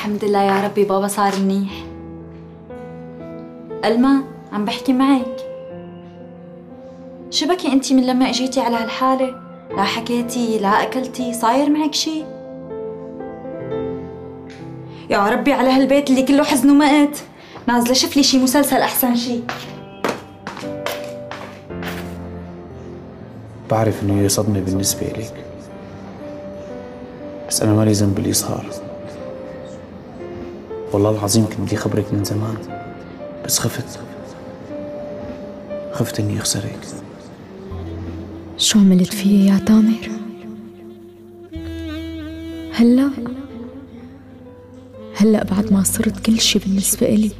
الحمد لله يا ربي بابا صار منيح. ألما عم بحكي معك. شو بكي انتي من لما اجيتي على هالحالة؟ لا حكيتي لا اكلتي، صاير معك شي؟ يا ربي على هالبيت اللي كله حزن ومقت. نازلة شوف لي شي مسلسل احسن شي. بعرف انه هي صدمة بالنسبة إليك، بس أنا مالي ذنب باللي صار. والله العظيم كنت بدي خبرك من زمان، بس خفت إني أخسرك. شو عملت فيي يا تامر؟ هلأ بعد ما صرت كل شي بالنسبة إلي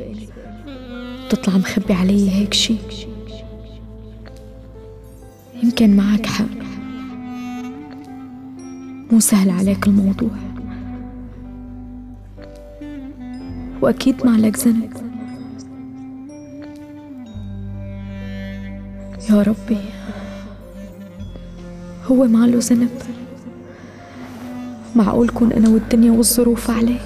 تطلع مخبي علي هيك شي؟ يمكن معك حق، مو سهل عليك الموضوع، وأكيد ما لك ذنب. يا ربي هو ما له ذنب، معقول كون أنا والدنيا والظروف عليه؟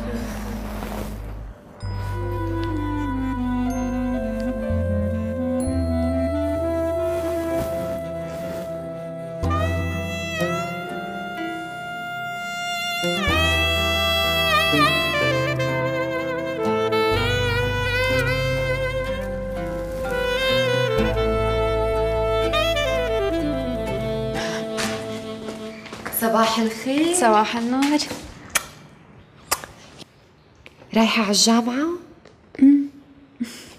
صباح الخير. صباح النور. رايحة على الجامعة؟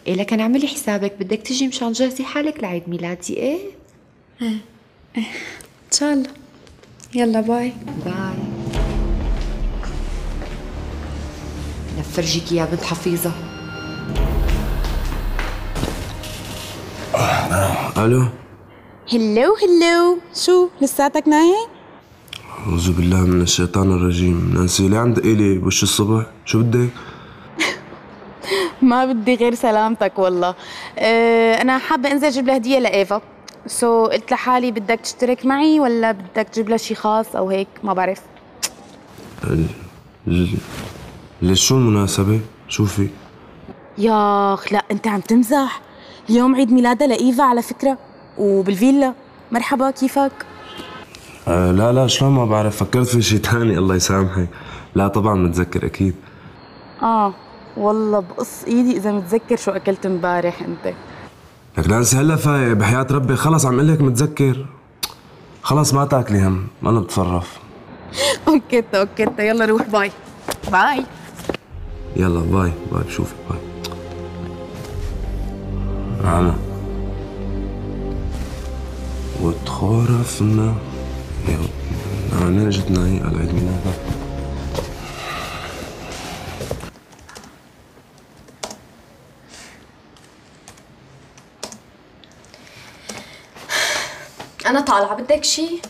إيه لكن اعملي حسابك بدك تجي مشان تجهزي حالك لعيد ميلادي. ايه؟ إن شاء الله. يلا باي. باي. لفرجيكي يا بنت حفيظة. الو. هلو شو لساتك نايم؟ أعوذ بالله من الشيطان الرجيم. نانسي ليه عم تقيلي بوش الصبح؟ شو بدك؟ ما بدي غير سلامتك والله. أنا حابة أنزل أجيب لها هدية لإيفا، قلت لحالي بدك تشترك معي ولا بدك تجيب لها شي خاص أو هيك، ما بعرف. ليش شو المناسبة؟ شو في؟ ياخ لا أنت عم تمزح، اليوم عيد ميلادها لإيفا على فكرة، وبالفيلا. مرحبا كيفك؟ لا شلون ما بعرف، فكرت في شي تاني الله يسامحك. لا طبعا متذكر أكيد. والله بقص ايدي اذا متذكر شو اكلت امبارح انت. لك نانسي هلا فايق بحياة ربي، خلص عم قلك متذكر. خلص ما تاكلي هم، انا بتصرف. اوكي يلا روح. باي. يلا باي بشوفك باي. عنا وتخرفنا يا أنا جتنا هي على عيد ميلادها. أنا طالعة، بدك شي؟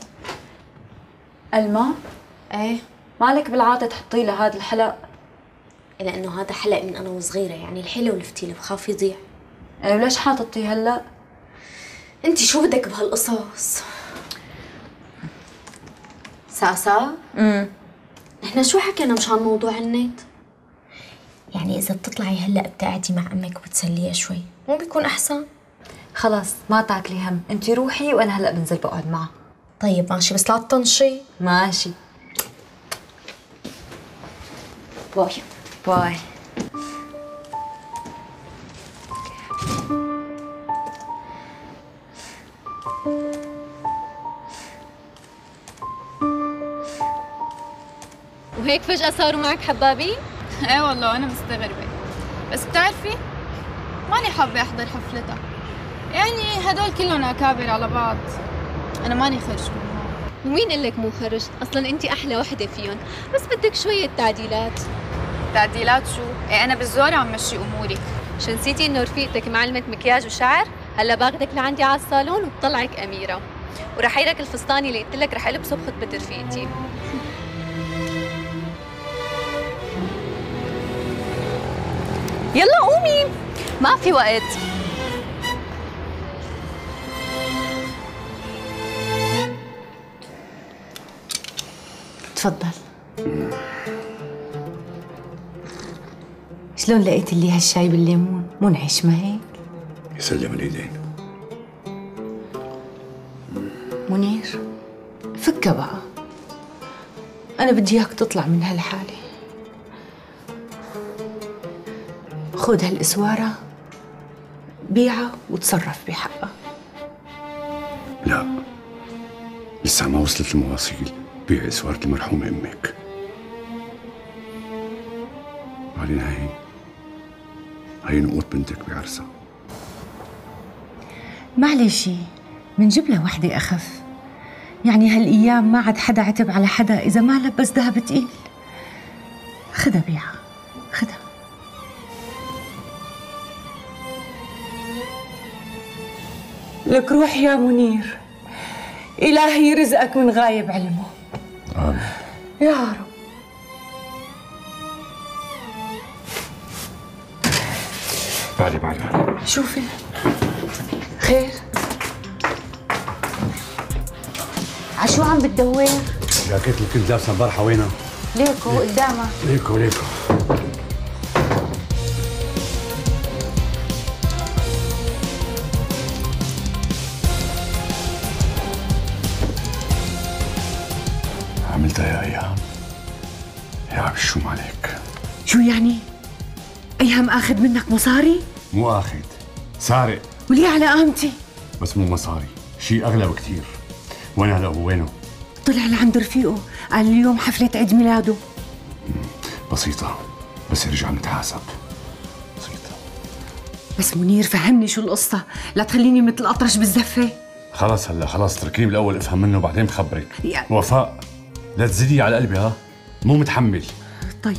ألما؟ إيه؟ مالك بالعادة تحطي لها هذا الحلق؟ لأنه هذا حلق من أنا وصغيرة، يعني الحلو والفتيلة بخاف يضيع. وليش حاططيه هلا؟ انتي شو بدك بهالقصص؟ ساسا؟ نحن شو حكينا مشان موضوع النت؟ يعني إذا بتطلعي هلا بتقعدي مع أمك وبتسليها شوي، مو بيكون أحسن؟ خلاص ما تاكلي هم، انتي روحي وانا هلا بنزل بقعد معها. طيب ماشي، بس لا تطنشي. ماشي. باي. وهيك فجأة صاروا معك حبابين؟ ايه والله أنا مستغربة، بس بتعرفي ماني حابة أحضر حفلتها، يعني هدول كلهم أكابر على بعض، أنا ماني خرج منهم. ومين قلك مو خرج؟ أصلاً أنت أحلى وحدة فيهم، بس بدك شوية تعديلات. تعديلات شو؟ ايه أنا بالزور عم مشي أموري. شو نسيتي إنه رفيقتك معلمة مكياج وشعر؟ هلا باخدك لعندي على الصالون وبطلعك أميرة، ورح يرك الفستان اللي قلت لك رح ألبسه بخطبة رفيقتي. يلا قومي، ما في وقت. تفضل. شلون لقيت لي هالشاي بالليمون؟ منعش ما هيك؟ يسلم الايدين. منير فكها بقى، أنا بدي إياك تطلع من هالحالة. خذ هالإسوارة بيعها وتصرف بحقها. لا، لسه ما وصلت المواصيل. بيع إسوارة المرحومة أمك. بعدين هي نقود بنتك بعرسها. معلش منجيب لها وحدة أخف، يعني هالأيام ما عاد حدا عتب على حدا إذا ما لبس ذهب تقيل. خدها بيعها، خدها. لك روح يا منير، إلهي يرزقك من غايب علمه. آمين يا رب. بعدي شوفي خير؟ عشو عم بتدور؟ جاكيت اللي كنت لابسها امبارحة وينها؟ ليكو قدامك. ليكو عملتها يا ايهام. يا عم الشوم عليك. شو يعني؟ ايهام اخذ منك مصاري؟ مو اخذ، سارق. وليه على قامتي؟ بس مو مصاري، شيء اغلى بكثير. وين هلا هو؟ وينه؟ طلع لعند رفيقه، قال اليوم حفلة عيد ميلاده. بسيطة، بس يرجع نتحاسب. بسيطة. بس منير فهمني شو القصة، لا تخليني مثل الأطرش بالزفة. خلص تركيني بالاول افهم منه وبعدين بخبرك. وفاء لا تزيدي على قلبي، ها؟ مو متحمل. طيب.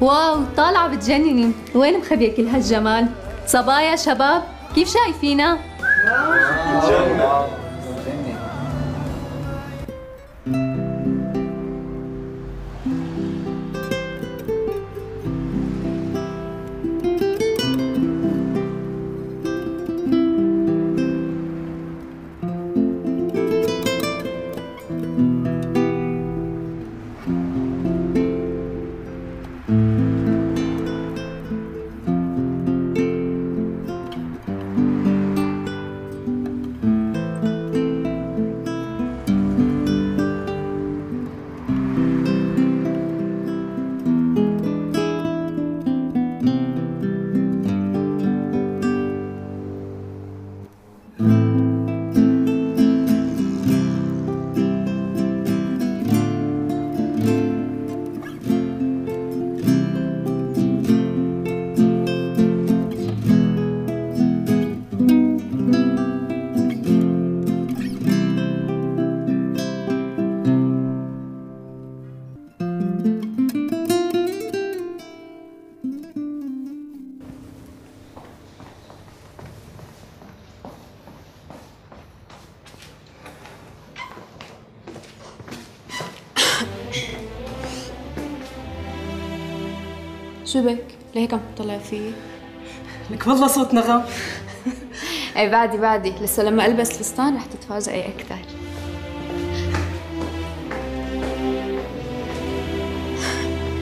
واو طالعة بتجنني. وين مخبية كل هالجمال؟ صبايا شباب كيف شايفينا؟ شو بك؟ ليه هيك عم تطلع فيي؟ لك والله صوت نغم. اي بعدي لسه لما البس الفستان رح تتفاجئي اكثر.